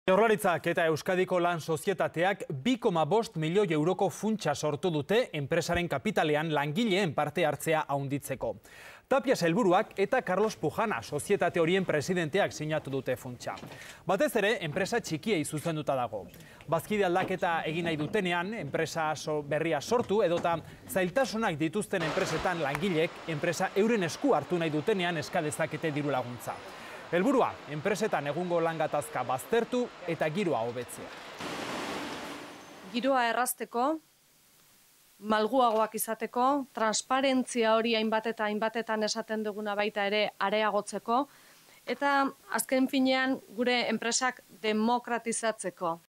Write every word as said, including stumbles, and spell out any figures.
Jaurlaritzak eta Euskadiko Lan Sozietateak bi koma bost milioi euroko funtsa sortu dute enpresaren kapitalean langileen parte hartzea handitzeko. Tapia sailburuak eta Carlos Pujana sozietate horien presidenteak sinatu dute funtsa. Batez ere, enpresa txikiei zuzenduta dago. Bazkide aldaketa egin nahi dutenean, enpresa berria sortu edota zailtasunak dituzten enpresetan langileek enpresa euren esku hartu nahi dutenean eska dezakete diru laguntza. Helburua, enpresetan egungo lan gatazka baztertu eta giroa hobetzea. Giroa errazteko, malguagoak izateko, transparentzia hori hainbat eta hainbatetan esaten duguna baita ere areagotzeko, eta azken finean gure enpresak demokratizatzeko.